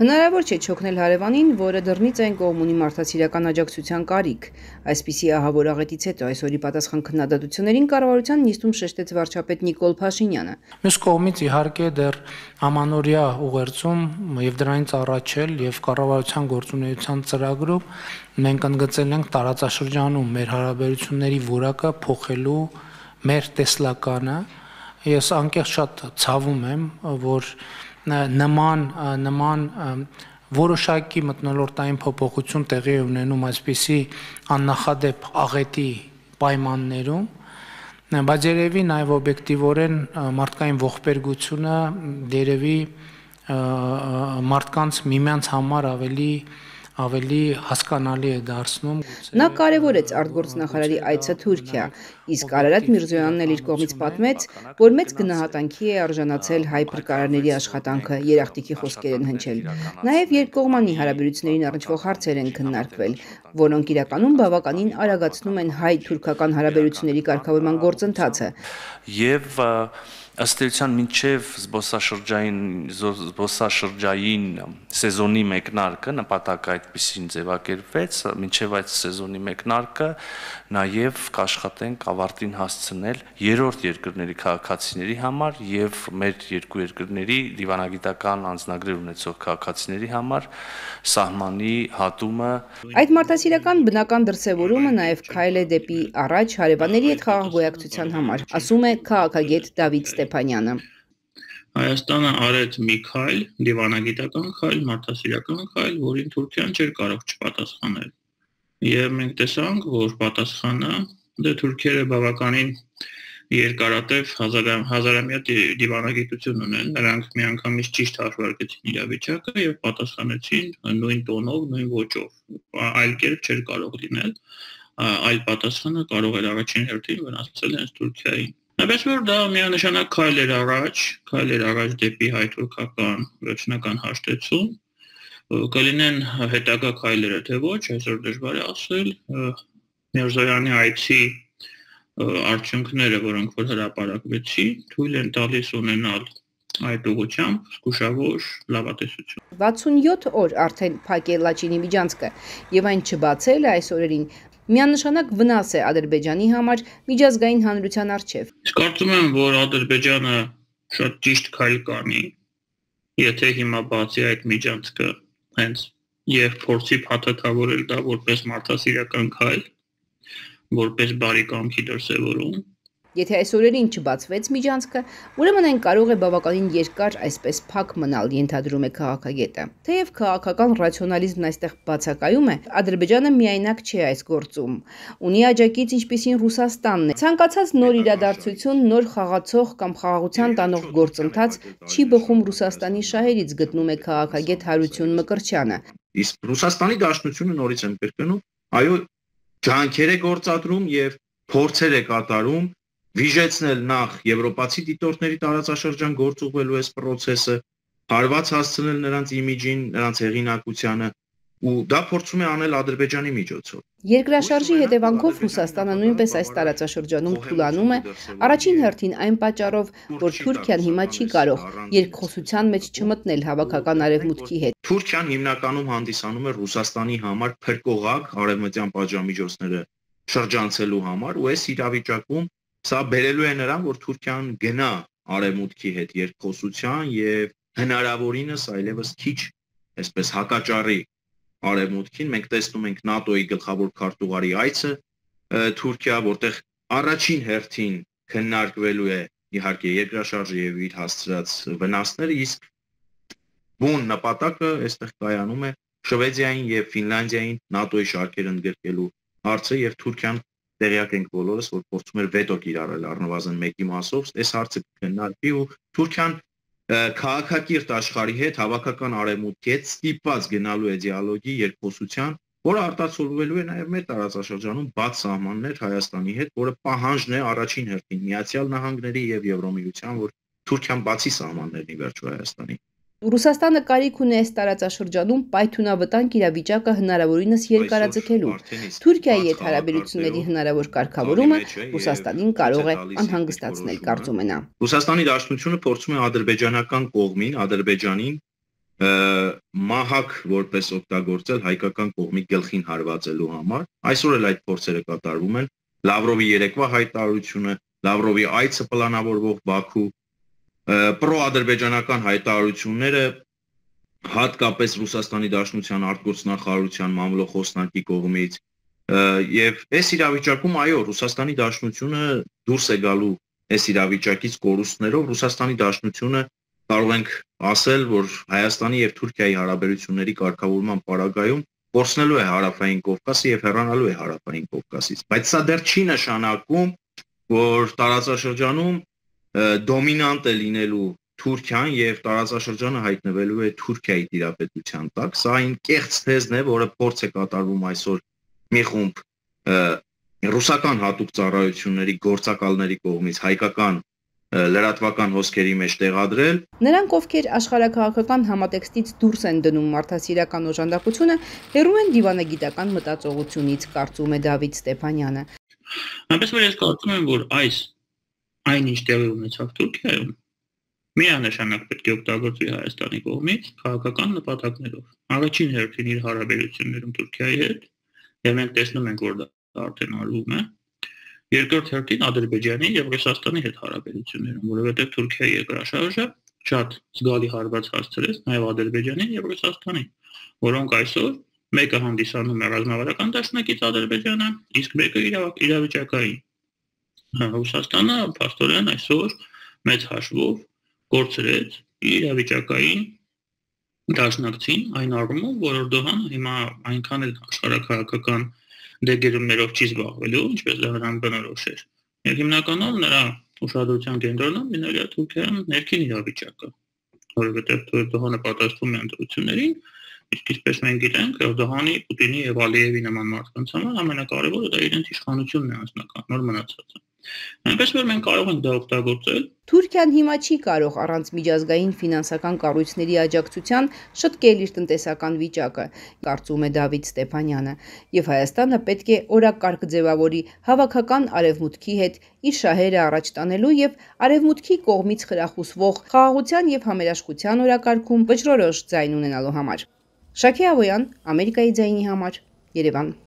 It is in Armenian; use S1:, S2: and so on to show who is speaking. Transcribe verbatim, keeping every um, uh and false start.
S1: Հնարավոր չէ չօգնել հարևանին, որը դռնից այն կողմ ունի մարդասիրական աջակցության կարիք։ Այսպիսի ահավոր աղետից հետո այսօրի պատասխան քննադատություններին կառավարության նիստում շեշտեց վարչապետ Նիկոլ Փաշինյանը։
S2: Մյուս կողմից իհարկե դեռ ամանորյա ուղերձում եւ դրանից առաջ էլ եւ կառավարության գործունեության ծրագրում մենք ընդգծել ենք տարածաշրջանում մեր հարաբերությունների որակը փոխելու մեր տեսլականը։ Ես անկեղծ շատ ցավում եմ, որ նման նման որոշակի մթնոլորտային փոփոխություն տեղի է ունենում այսպիսի աննախադեպ աղետի պայմաններում, բայց երևի նաև օբյեկտիվորեն մարդկային ողբերգությունը երևի մարդկանց միմյանց համար ավելի ավելի հասկանալի է դարձնում։
S1: Նա կարևորեց արտգործնախարարի այցը Թուրքիա, իսկ Արարատ Միրզոյանն էլ իր կողմից պատմեց, որ մեծ գնահատանքի է արժանացել հայ փրկարարների աշխատանքը, երախտիկի խոսքեր են հնչել։ Նաև երկկողմանի հարաբերություններին առնչվող հարցեր են քննարկվել, որոնք իրականում բավականին արագացնում են հայ-թուրքական հարաբերությունների կարգավորման գործընթացը։
S3: Եվ ըստ էության մինչև զբոսաշրջային զբոսաշրջային սեզոնի մեկնարկը նպատակը այդպեսին ձևակերպվեց, մինչև այդ սեզոնի մեկնարկը նաև կաշխատենք ավարտին հասցնել երրորդ երկրների քաղաքացիների համար եւ մեր երկու երկրների դիվանագիտական անձնագրեր ունեցող քաղաքացիների համար սահմանի հատումը։
S1: Այդ մարդասիրական բնական դրսևորումը նաև քայլ է դեպի առաջ հարևանների հետ խաղաղ գոյակցության համար, ասում է քաղաքագետ Դավիթ Ստեփանյանը։
S4: Հայաստանը արեց մի քայլ, դիվանագիտական քայլ, մարդասիրական քայլ, որին Թուրքիան չէր կարող չպատասխանել։ Եվ մենք տեսանք, որ պատասխանը դե թուրքերը բավականին երկարատև հազարամյա դիվանագիտություն ունեն, նրանք միանգամից ճիշտ հաշվարկեցին իրավիճակը եւ պատասխանեցին նույն տոնով, նույն ոճով։ Այլ կերպ չէր կարող լինել, այլ պատասխանը կարող էր առաջին հերթին վնասել հենց Թուրքիային։ Այնպես որ դա միանշանակ քայլ էր առաջ, քայլ էր առաջ դեպի հայ-թուրքական վերջնական հաշտեցում, կլինեն հետագա քայլերը թե ոչ, այսօր դժվար է ասել։ Միրզոյանի այցի արդյունքները, որոնք որ հրապարակվեցին, թույլ են տալիս ունենալ այդ ուղղությամբ զգուշավոր լավատեսություն։
S1: վաթսունյոթ օր արդեն փակ է Լաչինի միջանցքը եւ այն չբացելը այս օրերին միանշանակ վնաս է Ադրբեջանի համար միջազգային հանրության առջև։
S4: Կարծում եմ, որ Ադրբեջանը շատ ճիշտ քայլ կանի, եթե հիմա բացի այդ միջանցքը հենց եւ փորձի փաթաթավորել դա որպես մարդասիրական քայլ, որպես բարի կամքի դրսևորում։
S1: Եթե այս օրերին չբացվեց միջանցքը, ուրեմն այն կարող է բավականին երկար այսպես փակ մնալ, ենթադրում է քաղաքագետը։ Թեև քաղաքական ռացիոնալիզմն այստեղ բացակայում է, Ադրբեջանը միայնակ չէ այս գործում։ Ունի աջակից, ինչպիսին Ռուսաստանն է։ Ցանկացած նոր իրադարձություն, նոր խաղացող կամ խաղաղության տանող գործընթաց չի բխում Ռուսաստանի շահերից, գտնում է քաղաքագետ Հարություն Մկրտչյանը։
S5: Իսկ Ռուսաստանի Դաշնությունը նորից եմ կրկնում, այո, ջանքեր է գործադրում եւ փորձեր է կատարում վիժեցնել նախ եվրոպացի դիտորդների տարածաշրջան գործուղվելու այս process-ը, հարված հասցնել նրանց իմիջին, նրանց հեղինակությանը, ու դա փորձում է անել Ադրբեջանի միջոցով։
S1: Երկրաշարժի հետևանքով Ռուսաստանը նույնպես այս տարածաշրջանում թուլանում է, առաջին հերթին այն պատճառով, որ Թուրքիան հիմա չի կարող երկխոսության մեջ չմտնել հավաքական արևմուտքի հետ։
S5: Թուրքիան հիմնականում հանդիսանում է Ռուսաստանի համար փրկողակ արևմտյան պատժամիջոցները շրջանցելու համար, ու այս իրավիճակում սա բերելու է նրան, որ Թուրքիան գնա արևմուտքի հետ երկխոսության եւ հնարավորինս այլևս քիչ այսպես հակաճառի արևմուտքին։ Մենք տեսնում ենք ՆԱՏՕ-ի գլխավոր քարտուղարի այցը Թուրքիա, որտեղ առաջին հերթին քննարկվելու է իհարկե երկրաշարժը եւ իր հասցրած վնասները, իսկ բուն նպատակը այստեղ կայանում է Շվեդիային եւ Ֆինլանդիային ՆԱՏՕ-ի շարքեր ընդգրկելու հարցը, եւ Թուրքիան տեղյակ ենք բոլորս, որ փորձում էր վետո կիրառել առնվազն մեկի մասով, այս հարցը կքննարկվի ու Թուրքիան քաղաքակիրթ աշխարհի հետ, հավաքական արևմուտքի հետ ստիպված գնալու է դիալոգի, երկխոսության, որը արտացոլվելու է նաև մեր տարածաշրջանում բաց սահմաններ Հայաստանի հետ, որը պահանջն է առաջին հերթին Միացյալ Նահանգների եւ Եվրոմիության, որ Թուրքիան բացի սահմաններն ի վերջո Հայաստանի։
S1: Ռուսաստանը կարիք ունի այս տարածաշրջանում պայթունավտանգ իրավիճակը հնարավորինս երկարաձգելու։ Թուրքիայի հետ հարաբերությունների հնարավոր կարգավորումը Ռուսաստանին կարող է անհանգստացնել, կարծում է նա։
S5: Ռուսաստանի Դաշնությունը փորձում է ադրբեջանական կողմին, Ադրբեջանին մահակ որպես օգտագործել հայկական կողմի գլխին հարվածելու համար։ Այսօր էլ այդ փորձերը կատարվում են։ Լավրովի երեկվա հայտարարությունը, Լավրովի այցը պլանավորվող Բաքու, պրոադրբեջանական հայտարարությունները հատկապես Ռուսաստանի Դաշնության արտգործնախարարության մամլոխոսնակի կողմից եւ այս իրավիճակում այո Ռուսաստանի Դաշնությունը դուրս է գալու այս իրավիճակից կորուստներով Ռուսաստանի Դաշնությունը կարող ենք ասել, որ Հայաստանի եւ Թուրքիայի հարաբերությունների կարգավորման պարագայում կորցնելու է Հարավային Կովկասը եւ հեռանալու է Հարավային Կովկասից, բայց սա դեռ չի նշանակում, որ տարածաշրջանում դոմինանտ է լինելու Թուրքիան եւ տարածաշրջանը հայտնվելու է Թուրքիայի տիրապետության տակ։ Սա այն կեղծ թեզն է, որը փորձ է կատարվում այսօր մի խումբ ռուսական հատուկ ծառայությունների գործակալների կողմից հայկական լրատվական հոսքերի մեջ տեղադրել։
S1: Նրանք, ովքեր աշխարհաքաղաքական համատեքստից դուրս են դնում մարդասիրական օժանդակությունը, հեռու են դիվանագիտական մտածողությունից, կարծում է Դավիթ Ստեփանյանը։
S4: Այնպես որ ես կարծում եմ, որ այս այնինչ տեղի ունեցավ Թուրքիայում միանշանակ պետք է օգտագործվի Հայաստանի կողմից քաղաքական նպատակներով։ Առաջին հերթին իր հարաբերություններում Թուրքիայի հետ, եւ մենք տեսնում ենք, որ դա արդեն արվում է։ Երկրորդ հերթին Ադրբեջանի եւ Ռուսաստանի հետ հարաբերություններում, որովհետեւ Թուրքիայի երկրաշարժը շատ զգալի հարված հասցրեց նաեւ Ադրբեջանին եւ Ռուսաստանին, որոնք այսօր մեկը հանդիսանում է ռազմավարական դաշնակից Ադրբեջանը, իսկ մեկը իրավիճակային։ Ռուսաստանը փաստորեն այսօր մեծ հաշվով կորցրեց իր իրավիճակային դաշնակցին այն առումով, որ Էրդողանը հիմա այնքան էլ աշխարհաքաղաքական դեգերումներով չի զբաղվելու, ինչպես դա նրան բնորոշ էր։ Եվ հիմնականում նրա ուշադրության կենտրոնում լինել է Թուրքիայում ներքին իրավիճակը, որովհետև Էրդողանը պատասխանում է ընտրություններին, իսկ ինչպես մենք գիտենք, Էրդողանի, Պուտինի եւ Ալիևի նման մարդկանց համար ամենակարևորը դա իրենց իշխանությունն է անձնական, նոր մնացածը։ Այնպես որ մենք կարող ենք դա օգտագործել։
S1: Թուրքիան հիմա չի կարող առանց միջազգային ֆինանսական կառույցների աջակցության շտկել իր տնտեսական վիճակը, կարծում է Դավիթ Ստեփանյանը, եւ Հայաստանը պետք է օրակարգ ձևավորի հավաքական արևմուտքի հետ իր շահերը առաջ տանելու եւ արևմուտքի կողմից խրախուսվող խաղաղության եւ համերաշխության օրակարգում վճռորոշ ձայն ունենալու համար։ Շաքե Ավոյան, Ամերիկայի ձայնի համար, Երևան։